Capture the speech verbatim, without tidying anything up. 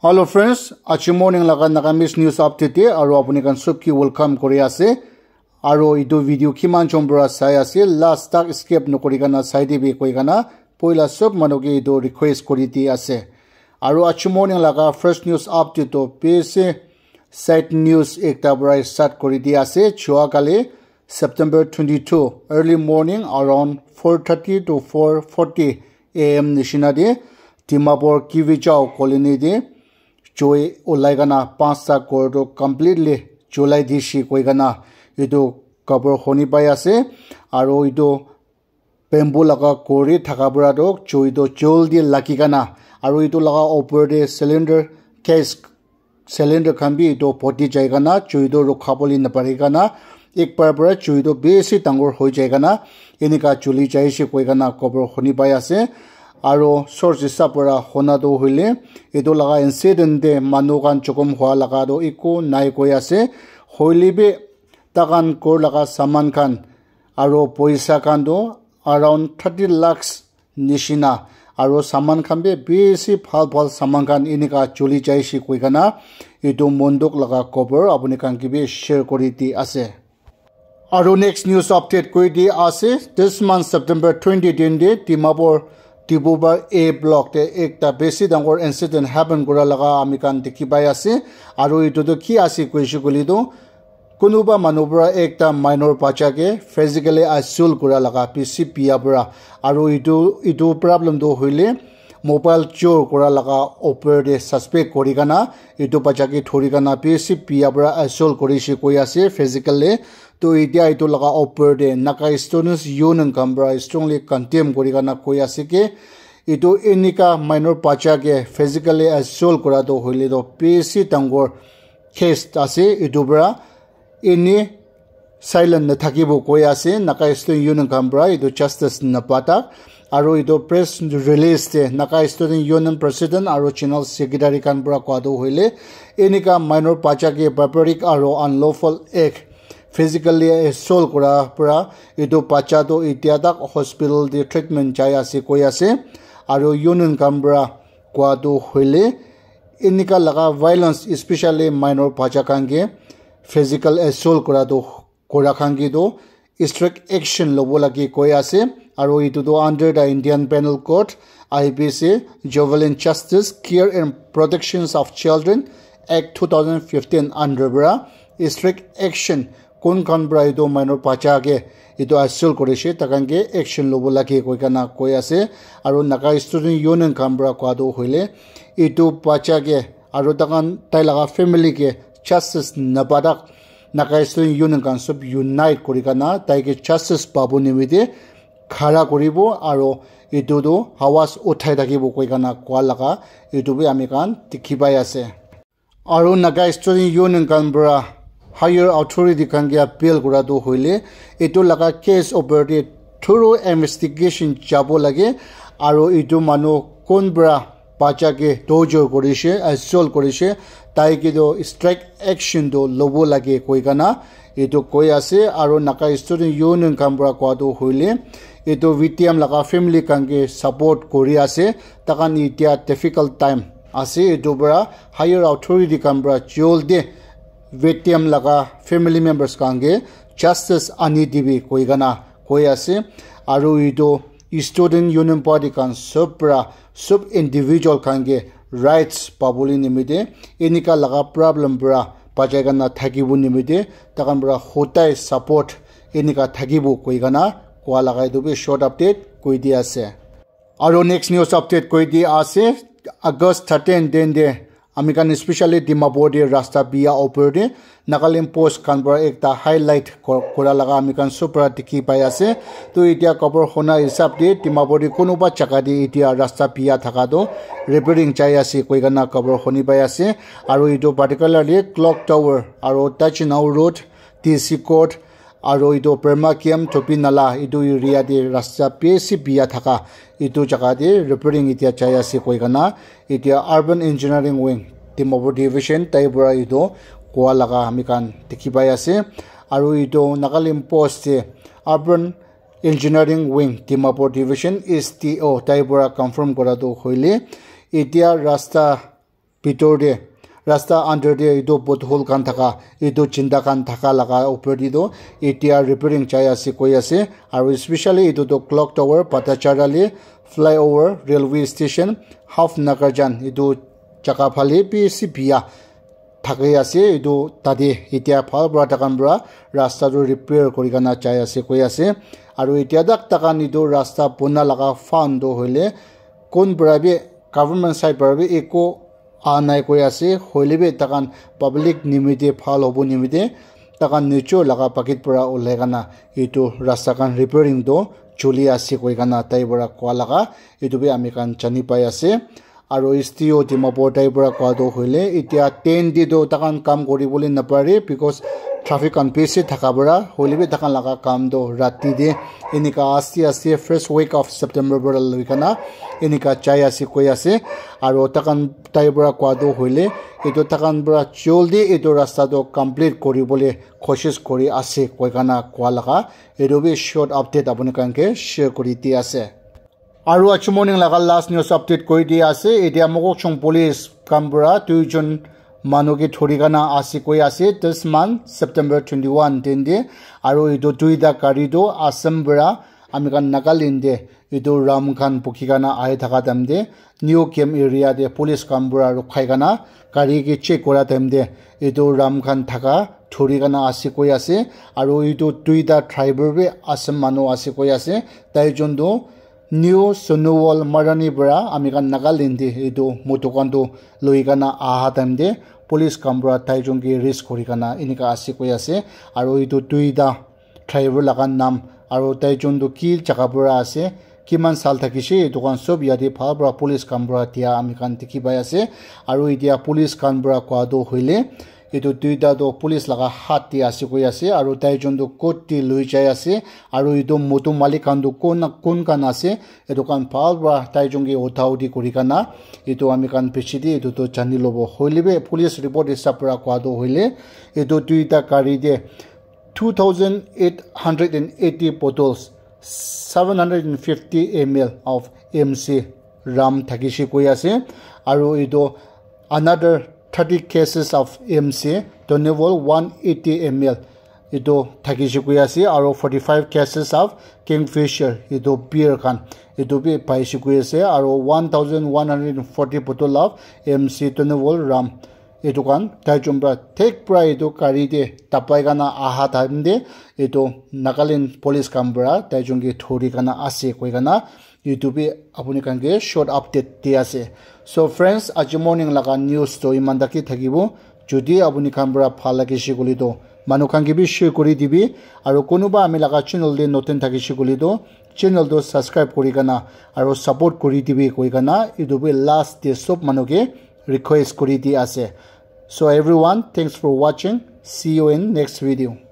Hello friends, aji morning laga Nagamese news update te aru apuni khan sob ke welcome kuri ase. Aru etu video kiman jon para sai ase, last tak skip nokori kana sai dibi koi kana poila sob manu ke etu request kuri di ase. Aru aji morning laga first news update to bishi sad news ekta para start kuri di ase. Jua kali September twenty-two early morning around four thirty to four forty a m nishina de Dimapur Kivichao colony de joi ulai kana panchta ghor tu completely julai dishi koi kana etu khobor huni pai ase. Aru etu bamboo laga ghor thaka para tu joi tu jaldi lagi kana aru etu laga upor te cylinder gas cylinder khan bi etu poti jai kana joi tu rukha bole napari kana ek bar para joi tu bishi dangor hoi jai kana enika juli jai se koi kana khobor huni pai ase. Aru source hisab para hona tu hoile etu laga incident te manu khan jokhom hua laga tu eku nai koi ase. Hoile bi takhan ghor laga saman khan aru poisa khan tu around thirty lakhs nishina aru saman khan bi bishi bhal bhal saman khan enika juli jai se koi kana etu monduk laga khobor apuni khan ke bi share kuri di ase. Aru next news update kuri di ase, this month September twenty twenty Dimapur Dibubar A block te ekta bishi dangor incident happen kura laga ami khan dikhi pai ase. Aru etu tu ki ase koishe koile tu kunuba manu para ekta minor bacha ke physically assault kura laga bishi biya para aru etu etu problem tu hoile mobile chor kura laga upor te suspect kuri kana etu bacha ke thori kana bishi biya para assault kuri se koi ase physically. To etia etu laga upor te Naga Students Union khan para strongly condemn kuri kana koi ase ke etu enika minor bacha ke physically assault kura tu hoile tu bishi dangor case ase. Etu para eni silent nathakibo koi ase Naga Student Union khan para etu justice napata. Aru etu press release te Naga Student Union president aru general secretary khan para koa tu hoile enika minor bacha ke barbaric aru unlawful act physically assault kura para etu bacha tu etia tak hospital te treatment jai ase koi ase. Aru union khan para koa tu hoile enika laga violence especially minor bacha khan ke physical assault kura tu kura khan ke tu strict action lobo lage koi ase. Aru etu tu under the Indian Penal Code, I P C, Juvenile Justice, Care and Protections of Children Act two thousand fifteen under para strict action kun khan para etu minor bacha ke etu assault kuri se takhan ke action lobo lage koi kana koi ase. Aru Naga Student Union khan para koa tu hoile etu bacha ke aru takhan tai laga family ke justice napatak Naga Student Union khan sob unite kuri kana tai ke justice pabo nimite khara kuribo aru etu tu hawas uthai thakibo koi kana koa laga etu bi ami khan dikhi pai ase. Aru Naga Student Union khan para higher authority khan ke appeal kura tu hoile etu laga case upor te thorough investigation jabo lage aru etu manu kun para bacha ke torture kuri se assault kuri se tai ke tu strict action tu lobo lage koi kana etu koi ase. Aru Naga Student Union khan para koa tu hoile etu victim laga family khan ke support kuri ase. Takhan etia difficult time ase etu para higher authority khan para jaldi victim laga family members khan ke justice ani dibi koi kana koi ase. Aru etu student union party khan sob para sob individual khan ke rights pabole nimite enika laga problem para bachai kana thakibo nimite takhan para hodai support enika thakibo koi kana koa laga etu bi short update koi di ase. Aru next news update koi di ase, August thirteen din de ami khan especially Dimapur de rasta biya upor de Nagaland Post khan para ekta highlight kor- kura laga ami khan sob para dikhi pai ase. To etia khobor huna hisab de Dimapur de kunuba jaga de etia rasta biya thaka to repairing jai ase koi kana khobor huni pai ase. Aru etu particularly Clock Tower aru Tachinau Road, D C Court, aru etu Burma Camp, Thopi Nala, etu area de rasta bishi biya thaka, etu jaga de repairing etia jai ase koi kana, etia Urban Engineering Wing, Dimapur Division, tai para etu koa laga ami khan dikhi pai ase. Aru etu Nagaland Post de Urban Engineering Wing, Dimapur Division, S D O, tai para confirm kura tu hoile, etia rasta bitor te rasta under te etu pothole khan thaka, etu chinda khan thaka laga upor te toh etia repairing jai ase koi ase. Aru especially etu toh clock tower, Patachara le flyover, railway station, half Nagarjan, etu jaga phale bishi bia thaki ase. Etu tate etia bhal para takan para rasta tu repair kuri kena jai ase koi ase. Aru etia tak takan etu rasta bona laga fund tu hoile kun para bi, government side para bi eku aha nai koi ase. Hoile bi takan public nimite bhal hobo nimite takan nijor laga pocket para ulai kena etu rasta khan repairing tu choli ase koi kena tai para koa laga etu bi ami khan jani pai ase. Aru S D O Dimapur tai para koa tu hoile etia ten te tu takan kam kuri bole napare because traffic khan bishi thaka para. Hoile bi takan laga kam tu rati te enika aste aste first week of September para loi kena enika jai ase koi ase. Aru takan tai para koa tu hoile etu takan para joldi etu rasta tu complete kuri bole koshish kuri ase koi kena koa laga etu bi short update apuni khan ke share kuri di ase. Aru aji morning laga last news update koi di ase. Etia Mokokchung police khan para duijon manu ke thori kena ase koi ase this month September twenty one din te. Aru etu duita gari tu Assam para ami khan Nagaland te etu ram khan bukhi kena ahi thaka time te New Camp area te police khan para rukhai kena gari ke check kura time te etu ram khan thaka thori kena ase koi ase. Aru etu duita driver bi Assam manu ase koi ase. Tai jon tu New Sonuwal Marani para ami khan Nagaland te etu motor khan tu loi kena aha time te police khan para tai jon ke arrest kuri kena enika ase koi ase. Aru etu duita driver laga nam aru tai jon tu ki jaga para ase, kiman saal thakise, etu khan sob yate bhal para police khan para dia ami khan dikhi pai ase. Aru etia police khan para koa tu hoile etu duita tu police laga hath te ase koi ase aru tai jon tu court te loi jai ase. Aru etu motor malik khan tu kun, kun khan ase, etu khan bhal para tai jon ke utha uthi kuri kena etu ami khan piche te etu tu jani lobo. Hoile bi police report hisab para koa tu hoile etu duita gari te two thousand eight hundred and eighty bottles, seven hundred and fifty M L of M C ram thakise koi ase. Aru etu another thirty cases of M C, Tonival one eighty M L etu thakise koi ase. Aru forty five cases of Kingfisher, etu beer khan, etu bi paise koi ase. Aru one thousand one hundred and forty bottle of M C, Tonival ram, etu khan tai jon para thik para etu gari te dabai kena aha time te etu Nagaland police khan para tai jon ke thori kena ase koi kena etu bi apuni khan ke short update di ase. So friends, aji morning laga news tu iman tak he thakibo. Jodi apuni khan para bhal lagise koile tu manu khan ke bi share kuri dibi. Aru kunuba ami laga channel te notun thakise koile tu channel tu subscribe kuri kena aru support kuri dibi koi kena etu bi last te sob manu ke request kuri di ase. So everyone, thanks for watching. See you in next video.